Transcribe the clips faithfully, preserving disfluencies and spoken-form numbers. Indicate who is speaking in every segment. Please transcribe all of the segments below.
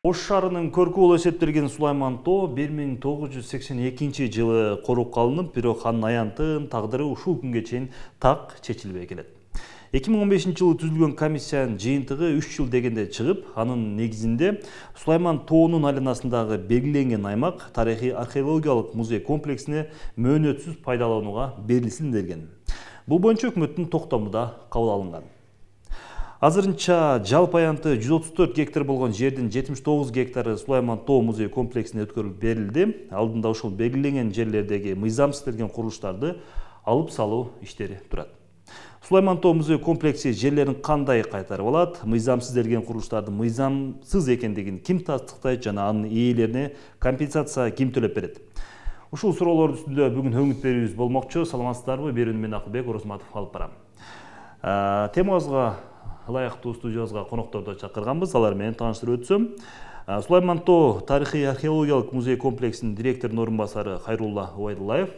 Speaker 1: Ош шаарынын көркү болуп эсептелген Сулайман Тоо бир миң тогуз жүз сексен экинчи жылы коруп калынып, бирок анын аянтын тагдыры ушул күнгө чейин так чечилбей келет. эки миң он бешинчи жылы түзүлгөн комиссиянын жыйынтыгы үч жыл дегенде чыгып, анын негизинде Сулайман Тоонун айланасындагы белгиленген аймак тарыхый археологиялык музей комплексине мөөнөтсүз пайдаланууга берилсин делген. Бул боюнча өкмөттүн токтому да кабыл алынган. Азырынча жалпы аянты жүз отуз төрт гектар болгон жердин жетимиш тогуз гектары Сулайман Тоо музей комплексине өткөрүлүп берилди. Алдында ушул белгиленген жерлердеги мыйзамсыз делген курулуштарды алып салуу иштери турат. Сулайман Тоо музей комплекси жерлерин кандай кайтарып алат, мыйзамсыз делген курулуштардын мыйзамсыз экендигин ким тастыктайт жана анын ээлерине компенсация ким төлөп берет? Ушул суроолордун үстүндө бүгүн өңүт берүүбүз болмокчу. Саламатсыздарбы? Берүүнү мен Акылбек Оросматов алып барам. Темабызга ылайыктуу студиябызга конокторду чакырганбыз. Алар менен тааныштырып өтсөм, Сулайман Тоо тарыхый археологиялык музей комплексинин директорунун орун басары Хайрулла Убайдуллаев,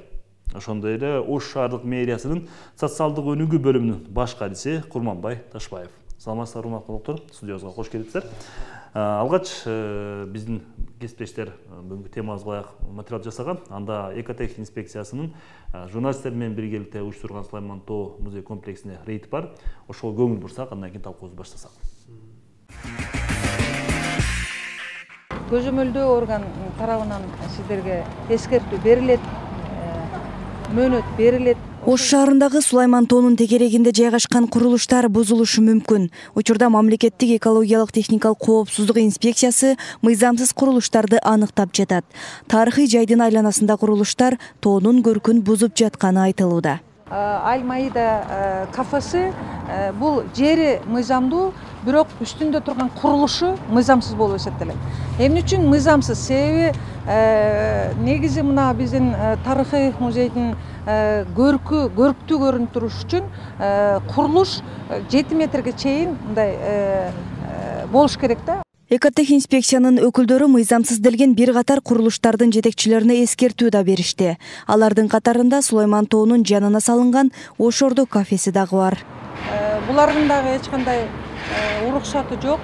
Speaker 1: ошондой эле Ош шаардык мэриясынын социалдык өнүгүү бөлүмүнүн баш кадиси Курманбай Ташбаев. Саламатсыздарбы, урматтуу коноктор? Студиябызга кош келипсиздер. Алгач биздин кесиптештер бүгүнкү темабызга ылайык материал жасаган. Анда экотех инспекциясынын журналисттер менен биргеликте уюштурган Сулайман Тоо музей комплексине рейд бар. Ошого көңүл бурсак, андан кийин талкуубузду баштасак.
Speaker 2: Көзөмөлдөө орган тарабынан сиздерге эскертүү берилет, мөөнөт берилет.
Speaker 3: Ош шаарындагы Сулайман Тоонун тегерегинде жайгашкан курулуштар бузулушу мүмкүн. Учурда мамлекеттик экологиялык техникалык коопсуздук инспекциясы мыйзамсыз курулуштарды аныктап жатат. Тарыхый жайдын айланасында курулуштар тоонун көркүн бузуп жатканы айтылууда.
Speaker 2: Аль-Маида кафеси бул жери мыйзамдуу, бирок үстүндө турган курулушу мыйзамсыз болуп эсептелет. Эмне үчүн мыйзамсыз? Себеби негизи мына биздин тарыхый музейдин көркү көрктүү көрүнүп туруш үчүн курулуш жети метрге чейин мындай болуш керек да.
Speaker 3: Экотех инспекциянын өкүлдөрү мыйзамсыз делген бир катар курулуштардын жетекчилерине эскертүү да беришти. Алардын катарында Сулайман Тоонун жанына салынган Ошордо кафеси дагы бар.
Speaker 2: Булардын дагы эч кандай уруксаты жок.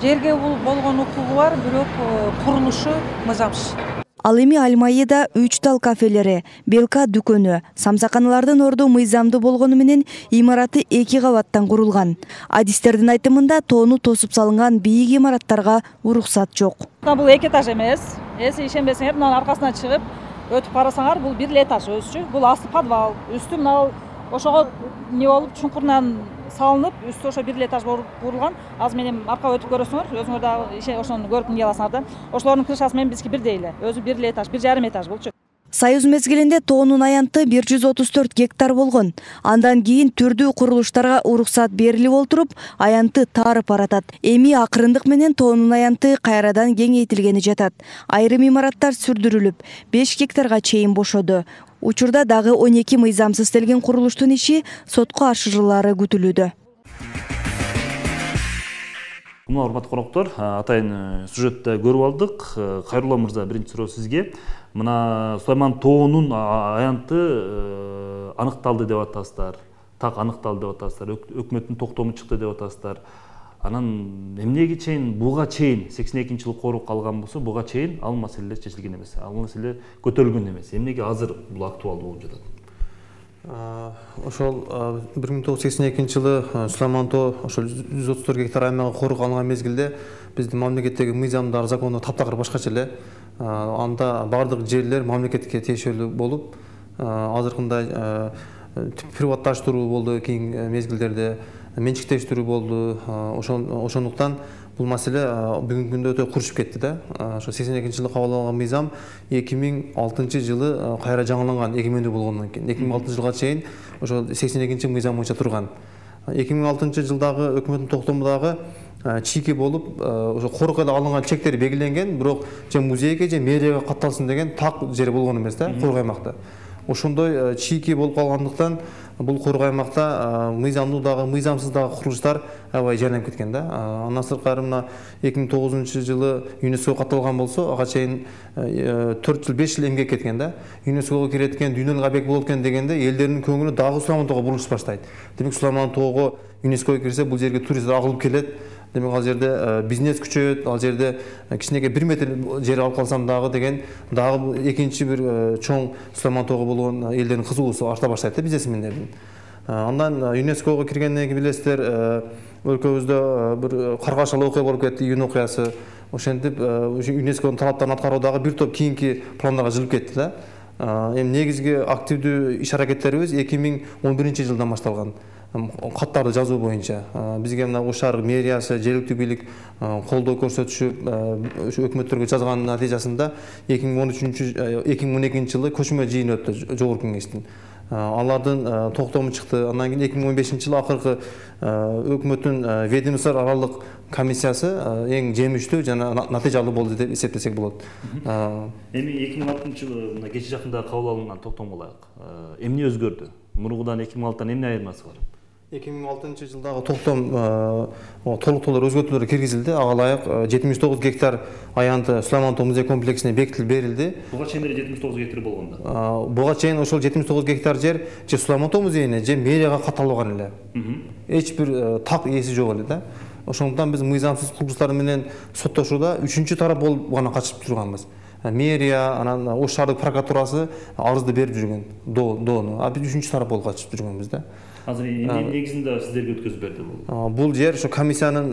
Speaker 2: Жерге болгон укугу бар, бирок курулушу мыйзамсыз.
Speaker 3: Ал эми Аль-Маида үч тал кафелери, Белка дүкөнү, самсаканалардын орду мыйзамдуу болгону менен имараты эки кабаттан курулган. Адистердин айтымында тоону тосуп салынган бийик имараттарга уруксат жок.
Speaker 4: Бул эки этаж эмес. Эси ишенбесеңер, мынанын аркасына чыгып өтүп карасаңар, бул бир этаж өзүчү. Бул асты подвал, үстү мына ошого не болуп чуңкурунан салынып, үстү ошо бир этаж болуп курулган. Азыр менен арка өтүп көрөсүңөр, өзүңөр дагы ошону көрүп эмне аласыңар да. Ошолордун крышасы менен биздики бирдей эле. Өзү бир этаж, бир жарым этаж болчу.
Speaker 3: Союз мезгилинде тоонун аянты бир жүз отуз төрт гектар болгон. Андан кийин түрдүү курулуштарга уруксат берилип олтуруп, аянты таарып баратат. Эми акырындык менен тоонун аянты кайрадан кеңейтилгени жатат. Айрым имараттар сүрдүрүлүп, беш гектарга чейин бошоду. Учурда дагы он эки мыйзамсыз делген курулуштун иши сотко ашырылары күтүлүүдө.
Speaker 1: Мына урматтуу коноктор, атайын сюжетте көрүп алдык. Кайрулла мырза, биринчи суроо сизге. Мына Сулайман Тоонун аянты аныкталды деп атасыздар. Так аныкталды деп атасыздар. Өкмөттүн токтому чыкты деп атасыздар. Анан эмнеге чейин, буга чейин сексен экинчи жылы коруп калган болсо, буга чейин ал маселелер чечилген эмес. Ал маселе көтөрүлгөн эмес. Эмнеге азыр бул актуалдуу болуп жатат?
Speaker 5: Ошол бир миң тогуз жүз сексен экинчи жылы Сулайман Тоо ошол жүз отуз төрт гектар аймагы коруп калган мезгилде биздин мамлекеттеги мыйзамдар, закондор таптакыр башкача эле. Анда бардык жерлер мамлекетке тиешелүү болуп, азыркындай приватташтыруу болду кийинки мезгилдерде, менчиктештирүү болду. Ошондуктан бул маселе бүгүнкү күндө өтө курушуп кетти да. Ошо сексен экинчи жылы кабыл алынган мыйзам эки миң алтынчы жылы кайра жаңыланган, эгемендүү болгондон кийин. эки миң алтынчы жылга чейин ошо сексен экинчи мыйзам боюнча турган. эки миң алтынчы жылдагы өкмөттүн токтому дагы чийки болуп, ошо корукка алынган чектер белгиленген, бирок же музейге же мэрияга катталсын деген так жер болгон эмес да, корук аймакта. Ошондой чийки болуп калгандыктан бул корук аймакта мыйзамдуу дагы, мыйзамсыз дагы курулуштар аябай жайланып кеткен да. Андан сырткары мына эки миң тогузунчу жылы ЮНЕСКОго катталган болсо, ага чейин төрт жыл, беш жыл эмгек кеткен да. ЮНЕСКОго кирет экен, дүйнөлүк объект болот экен дегенде элдердин көңүлү дагы Сулайман Тоого бурулуш баштайт. Демек Сулайман Тоого ЮНЕСКОго кирсе, бул жерге туристтер агылып келет. демек ал жерде бизнес күчөйөт, ал жерде кичинекей бир метр жер алып калсам дагы деген дагы экинчи бир чоң Сулайман тоого болгон элдердин кызыгуусу арта баштайт да бизнесмендердин. Андан ЮНЕСКОго киргенден кийин билесиздер, өлкөбүздө бир каргашалы окуя болуп кетти, июнь окуясы. Ошентип ЮНЕСКонун талаптарын аткаруу дагы бир топ кийинки пландарга жылып кетти да. Эми негизги активдүү иш аракеттерибиз эки миң он биринчи жылдан башталган. Каттарды жазуу боюнча бизге мына Ош шаар мэриясы, жергиликтүү бийлик колдоо көрсөтүшүп, ошо өкмөттөргө жазганын натыйжасында эки миң он үчүнчү эки миң он экинчи жылы көчмө жыйын өттү жогорку кеңештин. Алардын токтому чыкты. Андан кийин эки миң он бешинчи жылы акыркы өкмөттүн ведомство аралык комиссиясы эң жемиштүү жана натыйжалуу болду деп эсептесек болот.
Speaker 1: Эми эки миң алтынчы жылы мына кече жакында кабыл алынган токтомго ылайык эмне өзгөрдү? Мурункудан эки миң алтыдан эмне айырмасы бар?
Speaker 5: эки миң алтынчы жылдагы токтом толуктоолор өзгөртүүлөр киргизилди. Ага ылайык жетимиш тогуз гектар аянты Сулайман тоо музей комплексине бекитилип берилди.
Speaker 1: Буга чейин эле жетимиш тогуз гектар болгондо.
Speaker 5: Буга чейин ошол жетимиш тогуз гектар жер же Сулайман тоо музейине, же мэрияга катталган эле. Эч бир так ээси жок эле да. Ошондуктан биз мыйзамсыз курулуштар менен соттошууда үчүнчү тарап болуп гана катышып турганбыз. Мэрия, анан Ош шаардык прокуратурасы арызды берип жүргөн, доону. А биз үчүнчү тарап болуп катышып жүргөнбүз да.
Speaker 1: Азыр эмне негизинде сиздерге өткөзүп берди бул?
Speaker 5: Бул жер ошо комиссиянын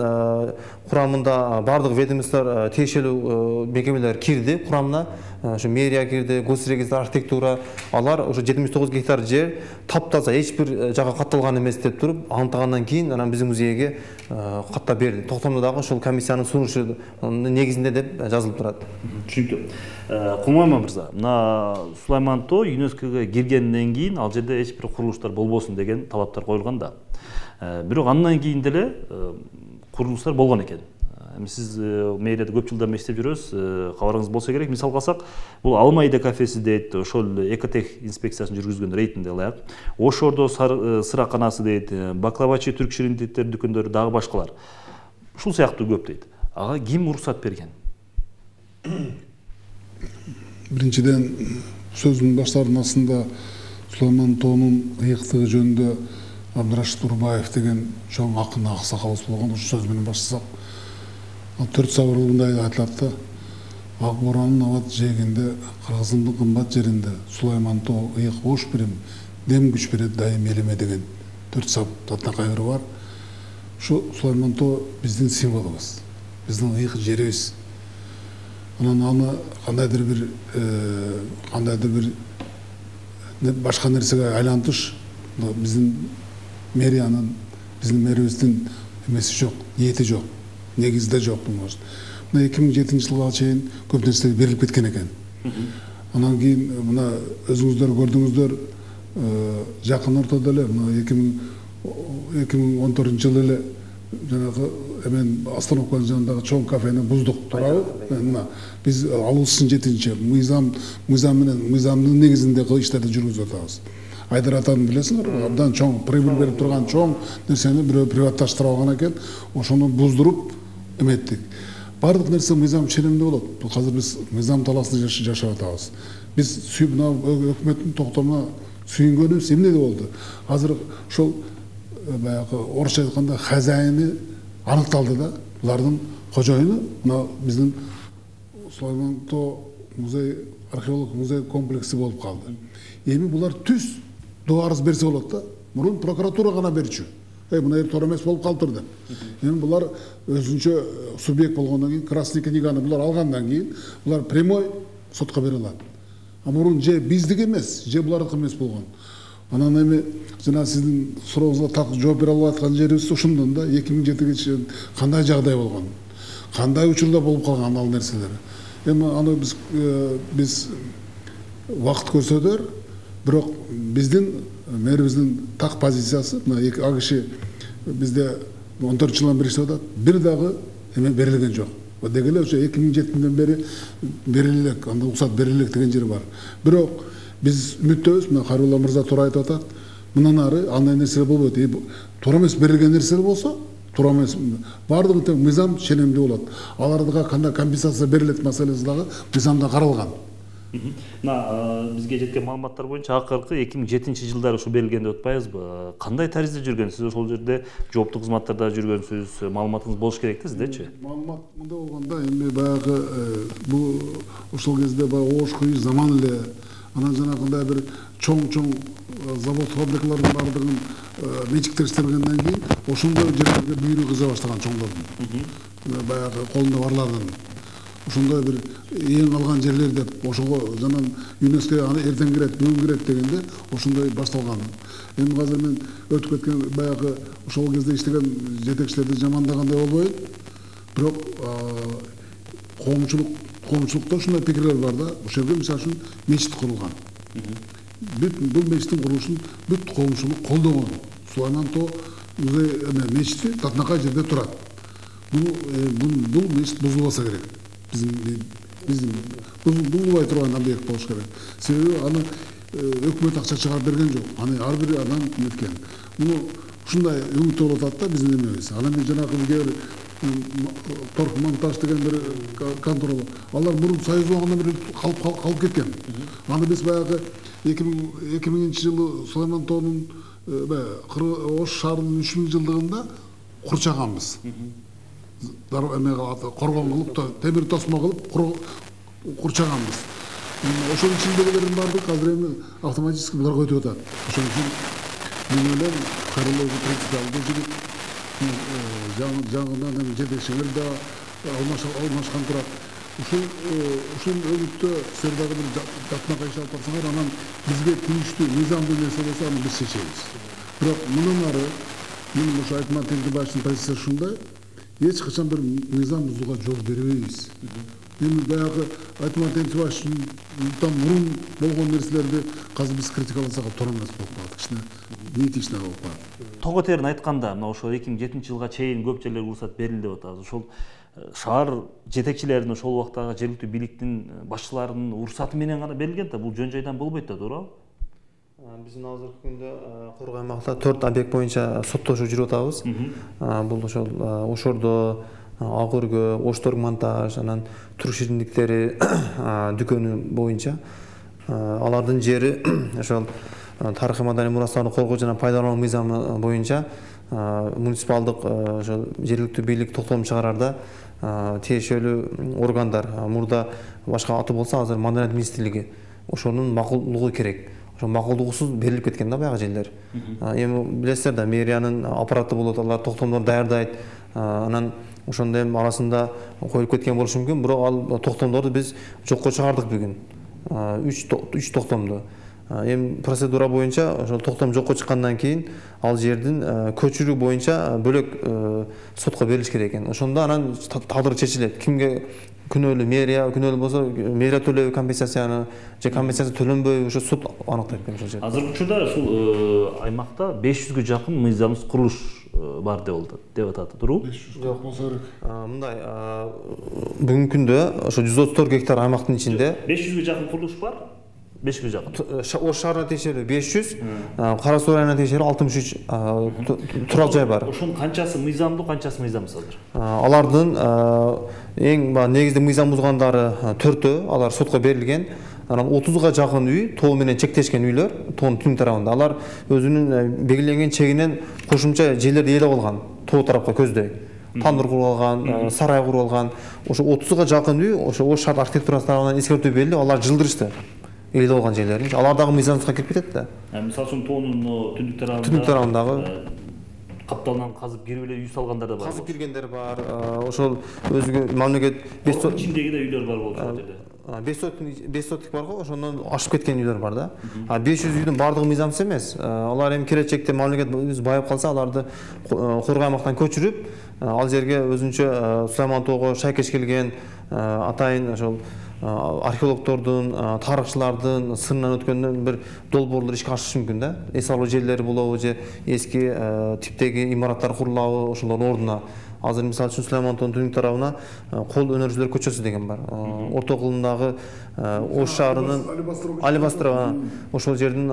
Speaker 5: курамында бардык ведомстволор, тиешелүү мекемелер кирди курамына. Ошо мэрия кирди, госрегистр, архитектура. Алар ошо жетимиш тогуз гектар жер таптаза эч бир жакка катталган эмес деп туруп, аныктагандан кийин анан биздин музейге каттап берди. Токтомдо дагы ошол комиссиянын сунушу негизинде деп жазылып турат.
Speaker 1: Түшүнүктүү. Кумайма мырза, мына Сулайман тоо ЮНЕСКого киргенден кийин ал жерде эч бир курулуштар болбосун деген талаптар коюлган да. Бирок андан кийин деле курулуштар болгон экен. Эми сиз мэрияда көп жылдар иштеп жүрөсүз, кабарыңыз болсо керек. Мисалга алсак, бул Алмайда кафеси дейт, ошол экотех инспекциясын жүргүзгөн рейтинде ылайык. Ошордо сыраканасы дейт, баклавачы түрк ширинтеттер дүкөндөрү дагы башкалар. Ушул сыяктуу көп дейт. Ага ким уруксат берген?
Speaker 6: Биринчиден сөзүмдүн баштарында Сулайман тоонун ыйыктыгы жөнүндө Абдырашид Урбаев деген чоң акын аксакалыбыз болгон. Ушул сөз менен баштасак, төрт сабыр мындай айтылат да: ак боранын абат жээгинде, кыргызымдын кымбат жеринде Сулайман тоо ыйык бош бирим, дем күч берет дайым элиме деген төрт сабыр атына кайры бар. Ушу Сулайман тоо биздин символубуз, биздин ыйык жерибиз. Анан аны кандайдыр бир кандайдыр бир башка нерсеге айлантыш биздин мэриянын, биздин мэрибиздин эмеси жок, ниети жок, негизде жок болмош. Мына эки миң жетинчи жылга чейин көп нерсе берилип кеткен экен. Анан кийин мына өзүңүздөр көрдүңүздөр, жакын ортодо эле мына эки миң он төртүнчү жылы эле жанагы эмен остановканын жанындагы чоң кафени буздук, туурабы? Мына биз алуусун жетинчи мыйзам мыйзам менен мыйзамдын негизинде иштерди жүргүзүп атабыз. Айдар атаны билесиңер, абдан чоң прибыль берип турган чоң нерсени бирөө приватташтырып алган экен, ошону буздуруп эметтик. Бардык нерсе мыйзам ченемде болот. Бул азыр биз мыйзам талаасында жашап атабыз. Биз мына өкмөттүн токтомуна сүйүнгөнүбүз эмне болду? Азыр ошол баягы орусча айтканда хозяини аныкталды да, булардын кожоюну мына биздин Сулайман тоо музей, археологик музей комплекси болуп калды. Эми булар түз до арыз берсе болот да. Мурун прокуратура гана берчү. Эй, мына туура эмес болуп калыптыр деп. Эми булар өзүнчө субъект болгондон кийин, красный книганы булар алгандан кийин, булар прямой сотко бере алат. А мурун же биздики эмес, же булардыкы эмес болгон. Анан эми жана сиздин сурооңузга так жооп бере албай аткан жерибиз ушундон да, эки миң жетиге чейин кандай жагдай болгон, кандай учурда болуп калган ал нерселер. Эми аны биз биз убакыт көрсөтөр, бирок биздин мэрибиздин так позициясы мына эки а киши бизде он төрт жылдан бери иштеп атат, бир дагы эме берилген жок. Деги эле ошо эки миң жетиден бери берилек, анда уруксат берилек деген жер бар. Бирок биз үмүттөбүз, мына Карулла мырза туура айтып атат. Мындан ары андай нерселер болбойт. Туура эмес берилген нерселер болсо, туура эмес баардыгы тең мыйзам ченемдүү болот. Аларга кандай компенсация берилет маселеси дагы мыйзамда каралган.
Speaker 1: мына бизге жеткен маалыматтар боюнча акыркы эки миң жетинчи жылдары ушу берилген деп атпайбызбы? Кандай таризде жүргөн? Сиз ошол жерде жооптук кызматтарда жүргөнсүз, маалыматыңыз болуш керек да сиздечи?
Speaker 6: Маалымат мындай болгондо эми баягы бул ошол кезде баягы ош кыйыш заман эле, анан жанагындай бир чоң-чоң завод фабрикалардын баардыгын менчиктер иштелгенден кийин ошондой жерлерге бүйүрү кыжа баштаган чоңдордун. Баягы колунда барлардын ошондой бир эң алган жерлер деп ошого жанан ЮНЕСКО аны эртең кирет, бүгүн кирет дегенде ошондой башталган. Эми азыр мен өтүп кеткен баягы ошол кезде иштеген жетекчилерди жамандагандай болбойм. Бирок коомчулук коомчулукта ушундай пикирлер бар да, ошол жерде мисалы үчүн мечит курулган. Бүт бул мечиттин курулушун бүт коомчулук колдогон. Сулайман тоо мечити татынакай жерде турат. Бул мечит бузулбаса керек. Биздин бузулбай турган объект болуш керек. Себеби аны өкмөт акча чыгарып берген жок. Аны ар бир адам неткен. Муну ушундай үмүттө болуп атат да биздин эмебиз. Анан мен жанагы бизге бир торг монтаж деген бир контора бар. Алар мурун союз убагында бир калып кеткен. Аны биз баягы эки миңинчи жылы Сулайман тоонун Ош шаарынын үч миң жылдыгында курчаганбыз. Коргон кылып, темир тосмо кылып курчаганбыз. Ошонун ичиндегилердин баардыгы азыр эми автоматически буларга өтүп атат. Ошон үчүн мен ойлойм, Карловду принципиалдуу жигит, жаңыдан жетекчилер да алмашкан турат. Ушул өбүттө силер дагы бир татынакай иш алып барсаңар, анан бизге тийиштүү мыйзамдуу нерсе болсо аны биз чечебиз. Бирок мындан ары мен ушу Айтман Теңкебаевдин позициясы ушундай, эч качан бир мыйзам бузууга жол бербейбиз. Эми баягы Айтман Теңкебаевдин мурун болгон нерселерди азыр биз критикаласак туура эмес болуп калат. Кичине неэтично болуп калат.
Speaker 1: Того терин айтканда, мына ошол эки миң жетинчи жылга чейин көп жерлерге уруксат берилди деп атабыз. Ошол шаар жетекчилеринин ошол убактагы жергиликтүү бийликтин башчыларынын уруксаты менен гана берилген да, бул жөн жайдан болбойт да, туурабы?
Speaker 5: Биздин азыркы күндө Кургай аймакта төрт объект боюнча соттошуп жүрүп атабыз. Бул ошол Ошордо, Ак Өргө, Ошторг монтаж, анан Түрк шириндиктери дүкөнү боюнча алардын жери ошол тарыхый маданий мурастарды коргоо жана пайдалануу мыйзамы боюнча муниципалдык ошол жергиликтүү бийлик токтом чыгарарда тиешелүү органдар, мурда башка аты болсо азыр Маданият министрлиги ошонун макулдугу керек. Ошо макулдугусуз берилип кеткен да баягы жерлер. Эми билесиздер да, мэриянын аппараты болот, алар токтомдорду даярдайт. Анан ошондой арасында коюлуп кеткен болушу мүмкүн, бирок ал токтомдорду биз жокко чыгардык бүгүн. үч токтомду. Эми процедура боюнча ошол токтом жокко чыккандан кийин ал жердин көчүрүү боюнча бөлөк сотко берилиш керек экен. Ошондо анан тагдыры чечилет. Кимге күнөөлүү, мэрия күнөөлүү болсо мэрия төлөйбү компенсацияны же компенсация төлөнбөйбү, ошо суд аныктайт экен ошол жерде.
Speaker 1: Азыркы учурда ушул аймакта беш жүзгө жакын мыйзамсыз курулуш бар деп атат, туурабы?
Speaker 6: Жок болсо керек.
Speaker 5: Мындай бүгүнкү күндө ошо жүз отуз төрт гектар аймактын ичинде
Speaker 1: беш жүзгө жакын курулуш бар. беш жүзгө жакын.
Speaker 5: Ош шаарына тиешелүү беш жүз, Кара Суу районуна тиешелүү алтымыш үч турак жай бар.
Speaker 1: Ошонун канчасы мыйзамдуу, канчасы мыйзамсыз азыр?
Speaker 5: Алардын эң негизги мыйзам бузгандары төртөө, алар сотко берилген. Анан отузга жакын үй тоо менен чектешкен үйлөр, тоонун түн тарабында. Алар өзүнүн белгиленген чегинен кошумча жерлерди ээлеп алган, тоо тарапка көздөй. Тандыр куруп алган, сарай куруп алган. Ошо отузга жакын үй, ошо Ош шаар архитектурасы тарабынан эскертүү берилип, алар жылдырышты. Ээлеп алган жерлерин. Алар дагы мыйзамсызга кирип кетет да.
Speaker 1: Мисалы үчүн тоонун түндүк тарабында
Speaker 5: түндүк тарабындагы
Speaker 1: капталынан казып кирип эле үй салгандар да бар.
Speaker 5: Казып киргендер бар. Ошол өзгө мамлекет беш сот
Speaker 1: ичиндеги да үйлөр бар болчу ал жерде.
Speaker 5: беш соттук бар го, ошондон ашып кеткен үйлөр бар да. беш жүз үйдүн баардыгы мыйзамсыз эмес. Алар эми келечекте мамлекет байып калса, аларды Кургай аймактан көчүрүп, ал жерге өзүнчө Сулайман тоого шайкеш келген атайын ошол археологдордун, тарыхчылардын сынынан өткөндөн бир долбоорлор ишке ашышы мүмкүн да. Эс алуу жерлери болобу же эски типтеги имараттар курулабы, ошолордун ордуна. Азыр мисалы үчүн Сулайман тоонун түндүк тарабына Кол өнөрчүлөр көчөсү деген бар. Орто кылымдагы Ош шаарынын Алибастрова ошол жердин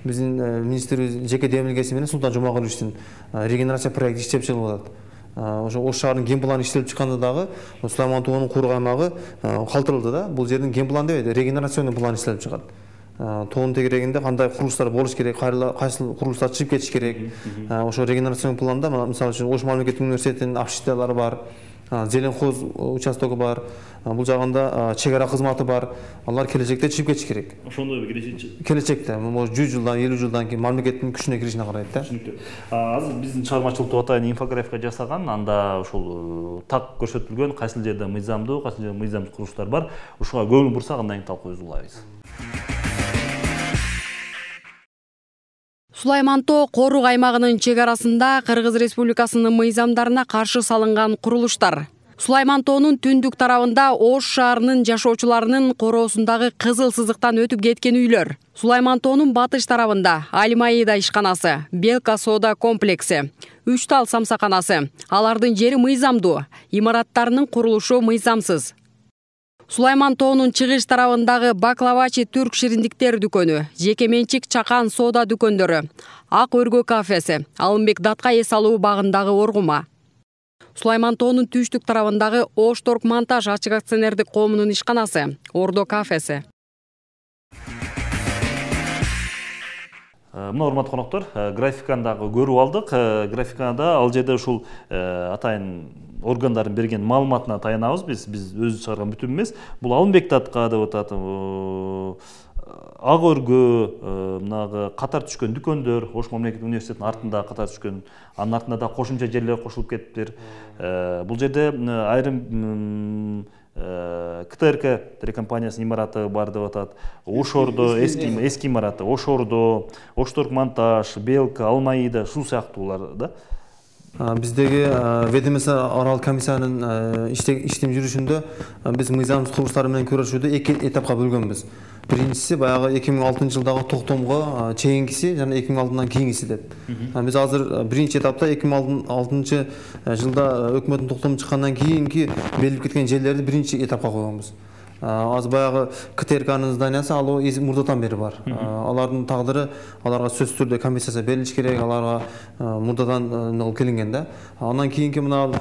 Speaker 5: биздин министрибиз жеке демилгеси менен Султан Жумагуловичтин регенерация проекти иштеп чыгып атат. ошо Ош шаарынын ген планы иштелип чыкканда дагы Сулайман тоонун куурук аймагы калтырылды да. Бул жердин ген план дебейт, регенерационный план иштелип чыгат. Тоонун тегерегинде кандай курулуштар болуш керек, кайсыл курулуштар чыгып кетиш керек. Ошо регенерационный планда мисалы үчүн Ош мамлекеттик университетинин общежитиялары бар, Зеленхоз участогу бар, бул жагында чек ара кызматы бар. Алар келечекте чыгып кетиш керек.
Speaker 1: Ошондойбу келечекте?
Speaker 5: Келечекте, может жүз жылдан, элүү жылдан кийин мамлекеттин күчүнө киришине карайт да.
Speaker 1: Азыр биздин чыгармачылыкта атайын инфографика жасаган, анда ушул так көрсөтүлгөн кайсыл жерде мыйзамдуу, кайсыл жерде мыйзамсыз курулуштар бар. Ушуга көңүл бурсак, андан кийин талкуубузду улайбыз.
Speaker 7: Сулайман тоо корук аймагынын чек арасында Кыргыз Республикасынын мыйзамдарына каршы салынган курулуштар. Сулайман тоонун түндүк тарабында Ош шаарынын жашоочуларынын короосундагы кызыл сызыктан өтүп кеткен үйлөр. Сулайман тоонун батыш тарабында Алимаида ишканасы, Белка соода комплекси, үч тал самсаканасы. Алардын жери мыйзамдуу, имараттарынын курулушу мыйзамсыз. Сулайман тоонун чыгыш тарабындагы Баклавачи түрк шириндиктер дүкөнү, жеке менчик чакан соода дүкөндөрү, Ак өргө кафеси, Алымбек датка эс алуу багындагы оргума. Сулайман тоонун түштүк тарабындагы Ош торг монтаж ачык акционердик коомунун ишканасы, Ордо кафеси.
Speaker 1: Мына урматтуу коноктор, графиканы дагы көрүп алдык. Графикада ал жерде ушул атайын органдардын берген маалыматына таянабыз. Биз биз өзү чыгарган бүтүн эмес. Бул Алымбек датка деп атат. Ак өргө, мынагы катар түшкөн дүкөндөр, Ош мамлекеттик университетинин артында катар түшкөн, анын артында да кошумча жерлер кошулуп кетиптир. Бул жерде айрым КТРК телекомпаниясынын имараты бар деп атат. Ошордо эски эски имараты, Ошордо, Ош торг монтаж, Белка, Алмаида, ушул сыяктуулар да.
Speaker 5: Биздеги ведомство арал комиссиянын иштем жүрүшүндө биз мыйзамсыз курулуштар менен күрөшүүдө эки этапка бөлгөнбүз. Биринчиси баягы эки миң алтынчы жылдагы токтомго чейинкиси жана эки миң алтыдан кийингиси деп. Биз азыр биринчи этапта эки миң алтынчы жылда өкмөттүн токтому чыккандан кийинки белгилеп кеткен жерлерди биринчи этапка койгонбуз. Аз баягы КТРКнын зданиясы ал мурдатан бери бар. Алардын тагдыры аларга сөзсүз түрдө комиссиясы берилиш керек, аларга мурдатан келинген да. Андан кийинки мына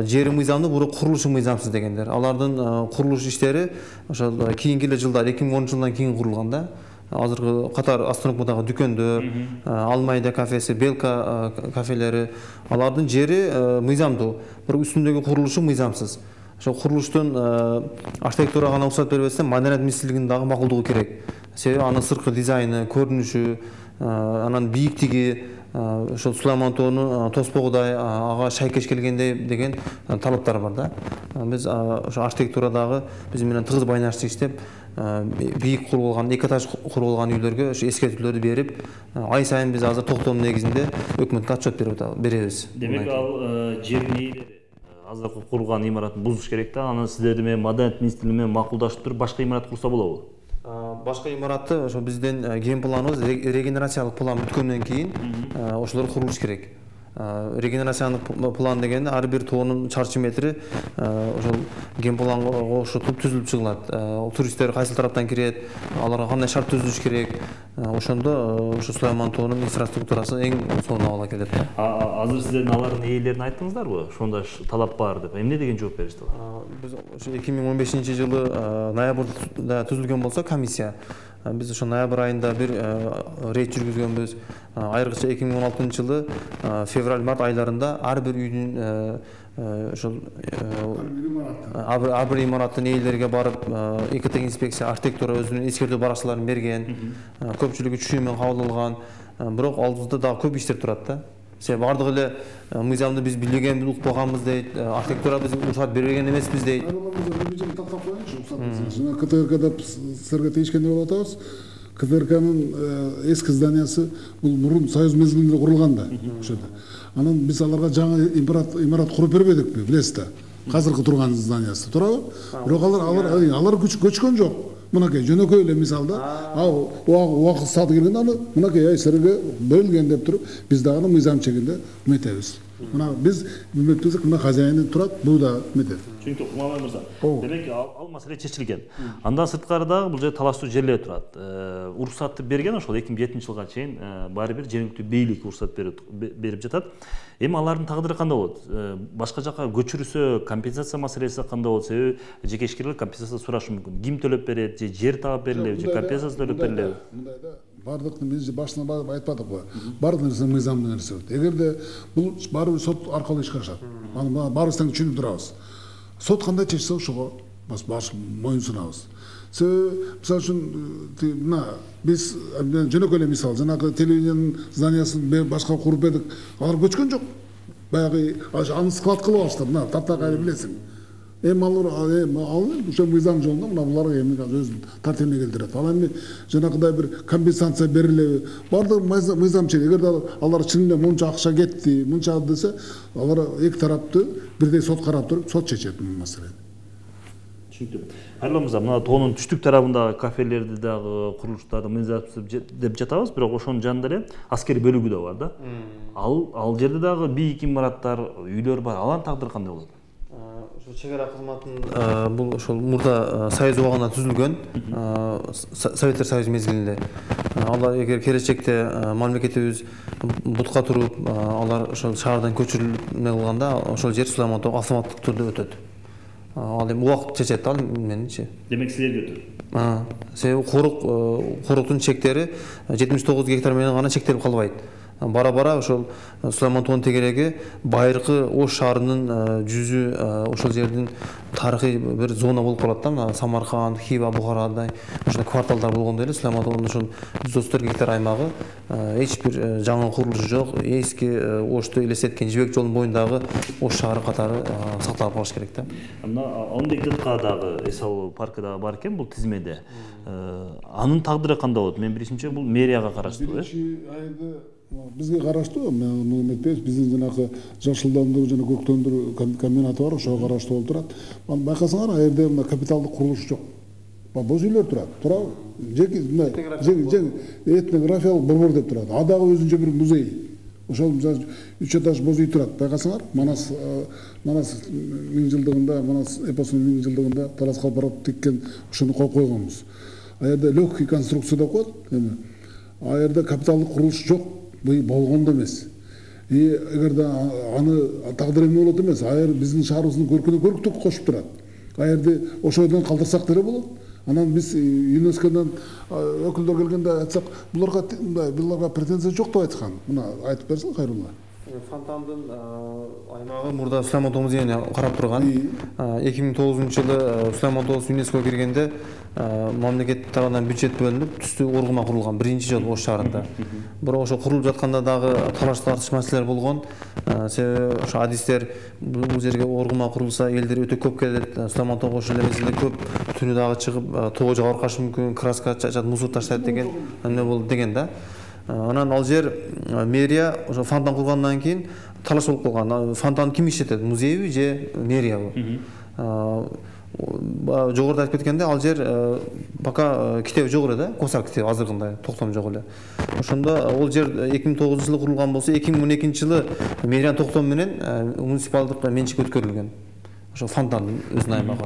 Speaker 5: жери мыйзамдуу, бирок курулушу мыйзамсыз дегендер. Алардын курулуш иштери ошо кийинки эле жылдар эки миң онунчу жылдан кийин курулган да. Азыркы катар остановкадагы дүкөндөр, Алмайда кафеси, Белка кафелери, алардын жери мыйзамдуу, бирок үстүндөгү курулушу мыйзамсыз. Ошо курулуштун архитектурага гана уруксат бербестен Маданият министрлигинин дагы макулдугу керек. Себеби анын сырткы дизайны, көрүнүшү, анан бийиктиги, ошо Сулайман тоонун тоспогудай ага шайкеш келгендей деген талаптар бар да. Биз ошо архитектурадагы биз менен тыгыз байнашты иштеп, бийик курулган, эки этаж курулган үйлөргө ошо эскертүүлөрдү берип, ай сайын биз азыр токтом негизинде өкмөткө отчет беребиз.
Speaker 1: Демек ал жердин ээлери азыркы курулган имаратын бузуш керек да, аны сиздерди менен Маданият министрлиги менен макулдашып туруп башка имарат курса болобу?
Speaker 5: Башка имаратты ошо биздин ген планыбыз регенерациялык план бүткөндөн кийин ошолор курулуш керек. Регенерациялык план дегенде ар бир тоонун чарчы метри ошол ген планга кошулуп түзүлүп чыгылат. Туристтер кайсыл тараптан кирет, аларга кандай шарт түзүлүш керек. Ошондо ошо Сулайман тоонун инфраструктурасы эң сонун абалга келет.
Speaker 1: Азыр сиздердин алардын ээлерин айттыңыздарбы? Ошондой талап бар деп. Эмне деген жооп беришти алар?
Speaker 5: Биз ошо эки миң он бешинчи жылы ноябрда түзүлгөн болсо комиссия, биз ошо ноябрь айында бир рейд жүргүзгөнбүз. Айрыкча эки миң он алтынчы жылы февраль-март айларында ар бир үйдүн ошол ар бир имараттын ээлериге барып, ИКТ инспекция, архитектура өзүнүн эскертүү баракчаларын берген, көпчүлүгү чүй менен кабыл алган. Бирок алдыбызда дагы көп иштер турат да. Себеби бардык эле мыйзамды биз билбегенбиз, укпаганбыз дейт, архитектура биз уруксат бербеген эмеспиз дейт.
Speaker 6: Жана КТРКда силерге тийишкендей болуп атабыз. КТРКнын эски зданиясы бул мурун Союз мезгилинде курулган да ошодо. Анан биз аларга жаңы имарат имарат куруп бербедикпи, билесиз да. Азыркы турган зданиясы, туурабы? Бирок алар алар алар көчкөн жок. Мынакей жөнөкөй эле мисалда, ал убакыт сааты келгенде аны мынакей силерге берилген деп туруп, биз дагы мыйзам чегинде үмүттөбүз. Мына биз мектепте мына хозяины турат, бул да метет.
Speaker 1: Түшүнүктүү, Кумалбай мырза. Демек ал маселе чечилген. Андан сырткары дагы бул жерде талаштуу жерлер турат. Уруксатты берген ошол эки миң жетинчи жылга чейин баары бир жергиликтүү бийлик уруксат берип жатат. Эми алардын тагдыры кандай болот? Башка жака көчүрүлсө компенсация маселеси кандай болот? Себеби жеке ишкерлер компенсация сурашы мүмкүн. Ким төлөп берет, же жер таап берилеби, же компенсация төлөп берилеби?
Speaker 6: Мындайда бардык биз башынан барып айтпадыкпы? Бардык нерсе мыйзамдуу нерсе. Эгерде бул баары сот аркылуу ишке ашат. Аны баарыбыз түшүнүп турабыз. Сот кандай чечсе ошого баш баш моюн сунабыз. Себеби мисалы үчүн мына биз жөнөкөй эле мисал жанагы телевидениянын зданиясын башка куруп бердик. Алар көчкөн жок. Баягы аны склад кылып алышты. Мына таптакай билесиң. Эми алар эми ал ошо мыйзам жолунда мына буларга эми өзүнүн тартибине келтирет. Ал эми жанагыдай бир компенсация берилеби? Бардык мыйзам чек. Эгерде алар чынында мынча акча кетти, мынча десе, алар эки тарапты бирдей сот карап туруп, сот чечет бул маселени.
Speaker 1: Түшүнүктүү. Айрылан мырза, мына тоонун түштүк тарабындагы кафелерди дагы, курулуштарды мыйзамсыз деп жатабыз, бирок ошонун жанында эле аскери бөлүгү да бар да. Ал ал жерде дагы бийик имараттар, үйлөр бар. Алардын тагдыры кандай болот?
Speaker 5: Чек ара кызматынын бул ошол мурда союз убагында түзүлгөн, Советтер Союзу мезгилинде. Алар эгер келечекте мамлекетибиз бутка туруп, алар ошол шаардан көчүрүлмө кылганда, ошол жер Сулайман Тоо автоматтык түрдө өтөт. Ал эми убакыт чечет ал менимче.
Speaker 1: Демек силерге өтөт.
Speaker 5: Себеби корук коруктун чектери жетимиш тогуз гектар менен гана чектелип калбайт. Бара-бара ошол Сулайман Тоонун тегереги байыркы Ош шаарынын жүзү ошол жердин тарыхый бир зона болуп калат да. Самарканд, Хива, Бухарадай ошол кварталдар болгондой эле Сулайман Тоонун ошол жүз отуз төрт гектар аймагы эч бир жаңы курулуш жок. Эски Ошту элестеткен Жибек жолунун боюндагы Ош шаары катары сакталып калыш керек да.
Speaker 1: Мына он гектарга дагы эс алуу паркы дагы бар экен бул тизмеде. Анын тагдыры кандай болот? Мен билишимче бул мэрияга караштуу, э?
Speaker 6: Бизге караштуу, муну эметпейбиз. Биздин жанагы жашылдандыруу жана көктөндүрүү комбинаты бар, ошого караштуу болуп турат. Аны байкасаңар, ал жерде мына капиталдык курулуш жок. Боз үйлөр турат. Туурабы? Жеки мына этнографиялык борбор деп турат. А дагы өзүнчө бир музей. Ошол үч этаж боз үй турат. Байкасаңар, Манас Манас миң жылдыгында, Манас эпосунун миң жылдыгында Талас Калпаров тиккен ошону коюп койгонбуз. А жерде легкий конструкция деп коет. Эми а жерде капиталдык курулуш жок. Бул болгондо эмес. И эгерде аны тагдыр эмне болот эмес, а жер биздин шаарыбыздын көркүнө көрктүк кошуп турат. А жерде ошодон калтырсак деле болот. Анан биз ЮНЕСКОдон өкүлдөр келгенде айтсак, буларга мындай, буларга претензия жок деп айткан. Мына айтып берсең, Кайрулла.
Speaker 5: Фонтандын аймагы мурда Сулайман Тоо музейине карап турган. эки миң тогузунчу жылы Сулайман Тоосу ЮНЕСКОго киргенде мамлекет тарабынан бюджет бөлүнүп, түстүү оргума курулган биринчи жолу Ош шаарында. Бирок ошо курулуп жатканда дагы талаш тартыш маселелер болгон. Себеби ошо адистер бул жерге оргума курулса элдер өтө көп келет. Сулайман Тоого ошол эмесинде көп түнү дагы чыгып, тоо жабыркашы мүмкүн, краска чачат, мусор таштайт деген эмне болду деген да. Анан ал жер мэрия ошо фонтан кургандан кийин талаш болуп калган. Фонтан ким иштетет? Музейби же мэриябы? Жогоруда айтып кеткенде, ал жер пока китеби жок эле да, косак китеби азыркындай токтом жок эле. Ошондо ал жер эки миң тогузунчу жылы курулган болсо, эки миң он экинчи жылы мэриянын токтому менен муниципалдык менчикке өткөрүлгөн. Ошо фонтандын өзүнүн аймагы.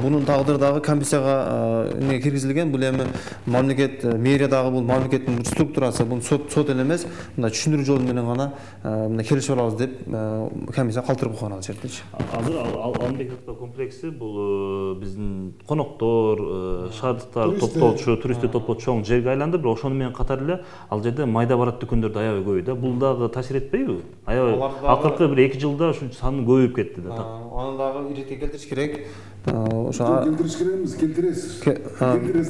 Speaker 5: Бунун тагдыры дагы комиссияга эмне киргизилген. Бул эми мамлекет, мэрия дагы бул мамлекеттин бир структурасы, бул сот сот эле эмес, мындай түшүндүрүү жолу менен гана мына келишип алабыз деп комиссия калтырып койгон ал жердечи.
Speaker 1: Азыр Алмек комплекси бул биздин коноктор, шаардыктар топтолчу, туристтер топтолчу чоң жерге айланды, бирок ошону менен катар эле ал жерде майда барат дүкөндөр да аябай көбөйдү да. Бул дагы таасир этпейби? Аябай акыркы бир эки жылда ушу саны көбөйүп кетти да.
Speaker 5: Аны дагы иретке келтириш керек.
Speaker 6: Ошо келтириш керек эмес, келтиресиз.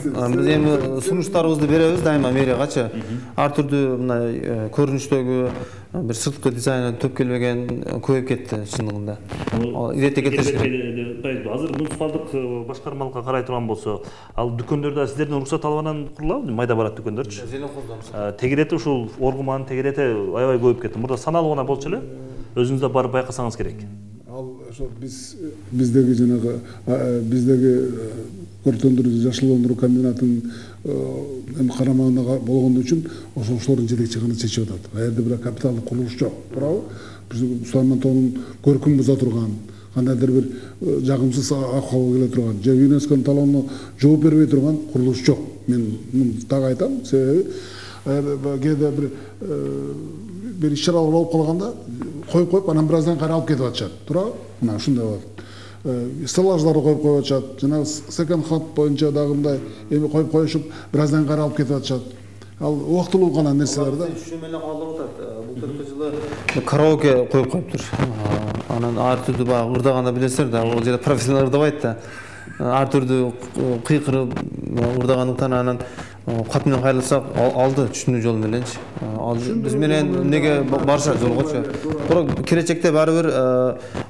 Speaker 5: Биз эми сунуштарыбызды беребиз дайыма мэриягачы. Ар түрдүү мына көрүнүштөгү бир сырткы дизайны төп келбеген көбөйүп кетти чындыгында. Иретке келтириш керек.
Speaker 1: Азыр муниципалдык башкармалыкка карай турган болсо, ал дүкөндөрдө сиздердин уруксат алгандан курулабы? Майда барат дүкөндөрчү. Тегерети ушул оргуманын тегерети аябай көбөйүп кетти. Мурда саналуу гана болчу эле. Өзүңүз да барып байкасаңыз керек.
Speaker 6: Ошо биз биздеги жанагы биздеги көркөндүрүү жашылдандыруу комбинатынын эми карамагында болгондо үчүн ошолордун жетекчи гана чечип атат. А жерде бирок капиталдык курулуш жок. Туурабы? Сулайман тоонун көркүн буза турган, кандайдыр бир жагымсыз акыбалга келе турган же ЮНЕСКОнун талабына жооп бербей турган курулуш жок. Мен муну так айтам, себеби кээде бир бир иш-чаралар болуп калганда коюп коюп анан бир аздан кайра алып кетип атышат. Туурабы? Мына ушундай болот. Стеллаждарды коюп коюп атышат. Жана секонд хат боюнча дагы мындай эми коюп коюшуп бир аздан кайра алып кетип атышат. Ал убактылуу гана нерселер да.
Speaker 5: Ушул менен калдырып атат. Бул төрткү жылы караоке коюп коюптур. Анан ар түрдүү баягы ырдаганда билесиздер да, ал жерде профессионал ырдабайт да. Ар түрдүү кыйкырып ырдагандыктан анан кат менен кайрылсак алды түшүнүү жол мененчи. Ал биз менен эмнеге барышат жолгочу. Бирок келечекте баары бир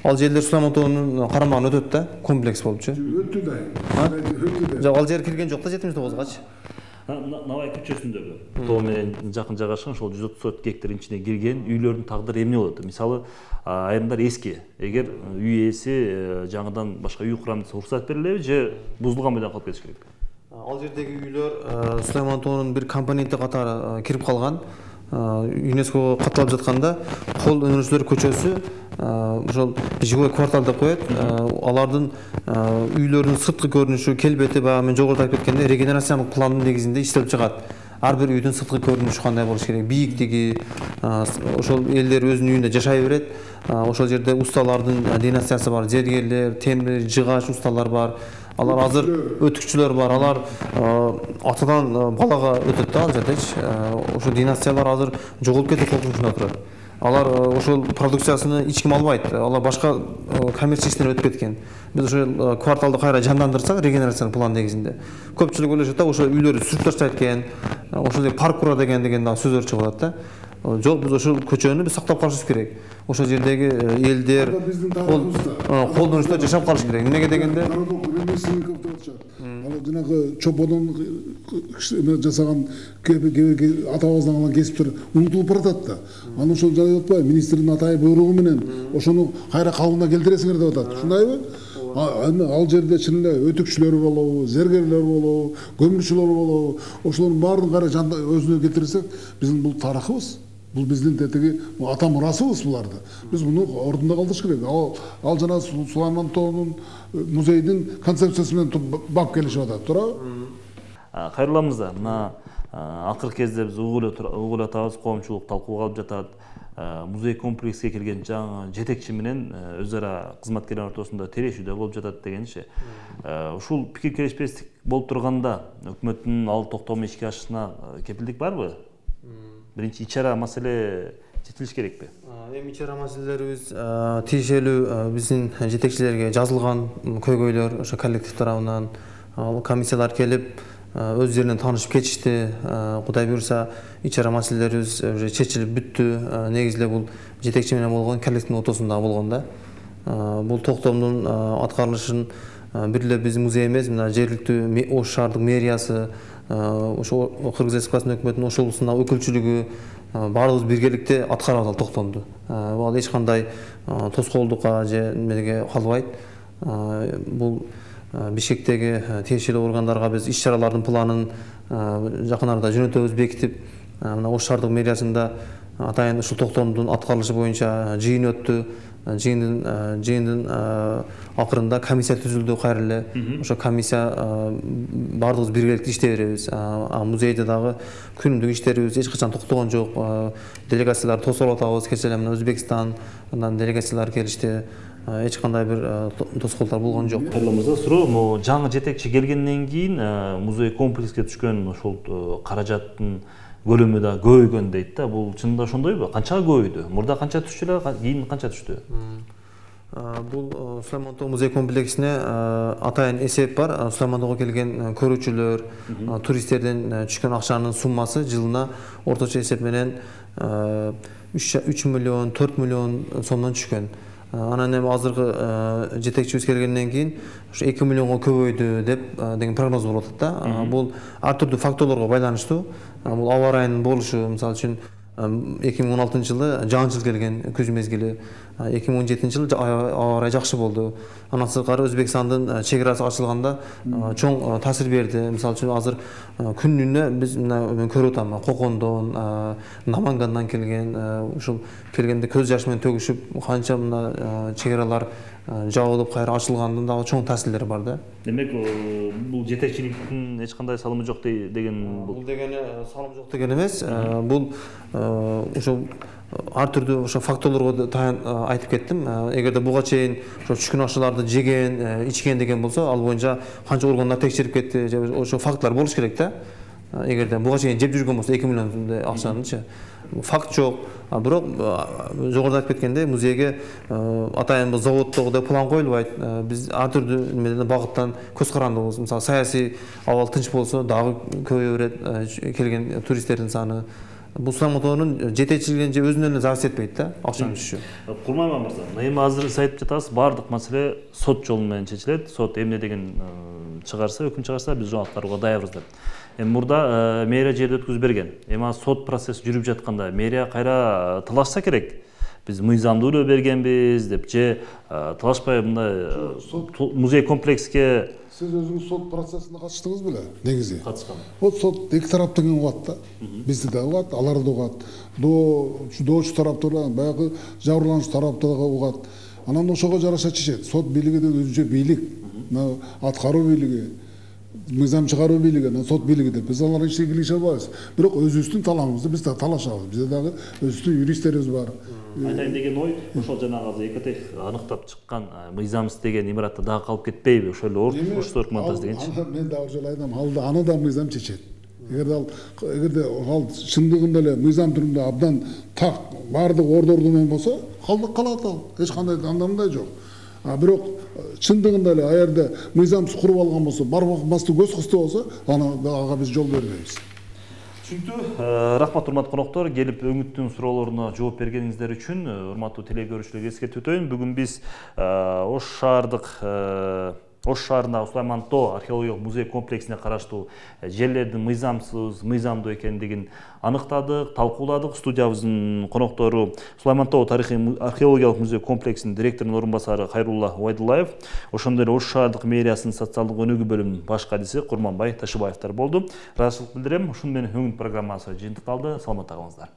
Speaker 5: ал жерлер Сулайман тоонун карамагына өтөт да, комплекс болупчу.
Speaker 6: Өттү да. Өттү да.
Speaker 5: Жок, ал жер кирген жок да жетимиш тогузгачы.
Speaker 1: Навай көчөсүндөгү тоо менен жакын жайгашкан ошол жүз отуз төрт гектардын ичине кирген үйлөрдүн тагдыры эмне болот? Мисалы, айрымдар эски. Эгер үй ээси жаңыдан башка үй курам десе уруксат берилеби же бузулган бойдон калып кетиш керекпи?
Speaker 5: Ал жердеги үйлөр Сулайман тоонун бир компоненти катары кирип калган. ЮНЕСКОго катталып жатканда кол өнөрчүлөр көчөсү ошол живой квартал деп коет. Алардын үйлөрүнүн сырткы көрүнүшү, келбети баягы мен жогоруда айтып кеткендей регенерациялык пландын негизинде иштелип чыгат. Ар бир үйдүн сырткы көрүнүшү кандай болуш керек, бийиктиги, ошол элдер өзүнүн үйүндө жашай берет. Ошол жерде усталардын династиясы бар, зергерлер, темир, жыгач усталар бар. Алар азыр өтүкчүлөр бар, алар атадан балага өтөт да ал жердечи. Ошо династиялар азыр жоголуп кетип коркунучунда турат. Алар ошол продукциясыны эч ким албайт. Алар башка коммерчия иштерине өтүп кеткен. Биз ошол кварталды кайра жандандырсак, регенерациялык план негизинде. Көпчүлүк ойлошот да, ошол үйлөрдү сүрүп таштайт экен, ошол жерде парк кура деген деген дагы сөздөр чыгып атат да. Жок, биз ошол көчөнү биз сактап калышыбыз керек. Ошол жердеги элдер колдонуштар жашап калыш керек. Эмнеге дегенде
Speaker 6: ал жанагы чоподон жасаган атабыздан калган кесиптер унутулуп баратат да. Анан ошол жай атпайбы, министрдин атайын буйругу менен ошону кайра калыбына келтиресиңер деп атат. Ушундайбы? Ал жерде чын эле өтүкчүлөр болобу, зергерлер болобу, көмүрчүлөр болобу, ошолордун баарын кайра өзүнө келтирсек, биздин бул тарыхыбыз. Бул биздин тетиги ата мурасыбыз буларды. Биз муну ордунда калтырыш керек. Ал ал жана Сулайман тоонун музейдин концепциясы менен бап келишип атат, туурабы?
Speaker 1: Кайрылла мырза, мына акыркы кезде биз угуп атабыз, коомчулук талкууга алып жатат. Музей комплекске келген жаңы жетекчи менен өз ара кызматкерлер ортосунда терешүүдө болуп жатат дегенчи. Ушул пикир келишпестик болуп турганда өкмөттүн ал токтом ишке ашышына кепилдик барбы? Биринчи ичара маселе чечилиш керекпи?
Speaker 5: Эми ичара маселелерибиз тиешелүү биздин жетекчилерге жазылган көйгөйлөр ошо коллектив тарабынан, комиссиялар келип өздөрүнөн таанышып кетишти. Кудай буйрса, ичара маселелерибиз уже чечилип бүттү. Негизинде бул жетекчи менен болгон коллективдин ортосунда болгон да. Бул токтомдун аткарылышын бир эле биздин музей эмес, мына жергиликтүү Ош шаардык мэриясы, ошо Кыргыз Республикасынын өкмөтүнүн Ош облусундагы өкүлчүлүгү баардыгыбыз биргеликте аткарабыз ал токтомду. Ал эч кандай тоскоолдукка же эмеге калбайт. Бул Бишкектеги тиешелүү органдарга биз иш-чаралардын планын жакын арада жөнөтөбүз, бекитип, мына Ош шаардык мэриясында атайын ушул токтомдун аткарылышы боюнча жыйын өттү. Жыйындын жыйындын акырында комиссия түзүлдү кайра эле. Ошо комиссия баардыгыбыз биргеликте иштей беребиз. Музейде дагы күнүмдүк иштерибиз эч качан токтогон жок. Делегацияларды тосолуп атабыз. Кечээ эле мына Өзбекстандан делегациялар келишти. Эч кандай бир тоскоолдор болгон жок.
Speaker 1: Кайрылла мырза, суроо, могу жаңы жетекчи келгенден кийин музей комплекске түшкөн ошол каражаттын көлөмү да көбөйгөн дейт да. Бул чынында ошондойбу? Канчага көбөйдү? Мурда канча түшчү эле, кийин канча түштү?
Speaker 5: Бул Сулайман тоо музей комплексине атайын эсеп бар. Сулайман тоого келген көрүүчүлөр, туристтерден түшкөн акчанын суммасы жылына орточо эсеп менен үч миллион, төрт миллион сомдон түшкөн. Анан эми азыркы жетекчибиз келгенден кийин ушу эки миллионго көбөйдү деп деген прогноз болуп атат да. Бул ар түрдүү факторлорго байланыштуу. Бул аба ырайынын болушу, мисалы үчүн эки миң он алтынчы жылы жаан-чыл келген күз мезгили, эки миң он жетинчи жылы аба ырайы жакшы болду. Андан сырткары Өзбекстандын чек арасы ачылганда чоң таасир берди. Мисалы үчүн азыр күнүнө биз мына мен көрүп атам, Кокондон, Намангандан келген, ушул келгенде көз жаш менен төгүшүп, канча мына чек аралар жабылып кайра ачылгандын дагы чоң таасирлери бар да.
Speaker 1: Демек, бул жетекчиликтин эч кандай салымы жок деген бул.
Speaker 5: Бул дегени салым жок деген эмес. Бул ошо ар түрдүү ошо факторлорго айтып кеттим. Эгерде буга чейин ошо түшкүн ашууларды жеген, ичкен деген болсо, ал боюнча канча органдар текшерип кетти, ошо фактлар болуш керек да. Эгерде буга чейин жеп жүргөн болсо эки миллион сомдой акчанычы. Факт жок. Бирок жогоруда айтып кеткендей, музейге атайын бул заводдогудай план коюлбайт. Биз ар түрдүү немеден багыттан көз карандыбыз. Мисалы, саясий абал тынч болсо дагы көбөйө берет келген туристтердин саны. Бул Сулайман жетекчилигинен же өзүнөн эле зарарсыз этпейт да, акчанын түшүшү.
Speaker 1: Курманбай мырза, эми азыр сиз айтып жатасыз, баардык маселе сот жолу менен чечилет. Сот эмне деген чыгарса, өкүм чыгарса, биз ошого аткарууга даярбыз деп. Эми мурда мэрия жерди өткүзүп берген. Эми азыр сот процесси жүрүп жатканда мэрия кайра талашса керек. Биз мыйзамдуу эле бергенбиз деп же талашпай мындай музей комплекске.
Speaker 6: Сиз өзүңүз сот процессине катыштыңыз беле? Негизи.
Speaker 1: Катышкам.
Speaker 6: Вот сот эки тараптан угат да. Бизди да угат, аларды да угат. Доочу тараптар, баягы жабырлануучу тараптар да угат. Анан ошого жараша чечет. Сот бийлиги да өзүнчө бийлик. Аткаруу бийлиги, мыйзам чыгаруу бийлиги, сот бийлиги деп биз алар ишин киргизе албайбыз. Бирок өзүбүздүн талабыбызды биз да талашабыз. Бизде дагы өзүбүздүн юристтерибиз бар.
Speaker 1: Айтайын деген ой, ошол жанагы азыр Экотех аныктап чыккан мыйзамсыз деген имаратта дагы калып кетпейби? Ошол эле орто документаж дегенчи.
Speaker 6: Мен дагы ошол айтам, ал да аны да мыйзам чечет. Эгерде ал эгерде ал чындыгында эле мыйзам түрүндө абдан так баардык ордорду менен болсо, калдык калат ал. Эч кандай андамдай жок. А бирок чындыгында эле аерде мыйзамсыз куруп алган болсо, барбастуу көз кысты болсо, аны ага биз жол бербейбиз.
Speaker 1: Түшүнүктүү. Рахмат урматтуу коноктор, келип өңүттүн суроолоруна жооп бергениңиздер үчүн урматтуу телегөрүүчүлөргө эскертип өтөйүн. Бүгүн биз Ош шаардык Ош шаарындагы Сулайман Тоо археологиялык музей комплексине караштуу жерлердин мыйзамсыз, мыйзамдуу экендигин аныктадык, талкууладык. Студиябыздын коноктору Сулайман Тоо тарыхый археологиялык музей комплексинин директорунун орун басары Кайрулла Убайдуллаев, ошондой эле Ош шаардык мэриясынын социалдык өнүгүү бөлүмүнүн баш кадиси Курманбай Ташыбаевдер болду. Ыраазычылык билдирем. Ушуну менен өңүт программасы жыйынтыкталды. Саламатта калыңыздар.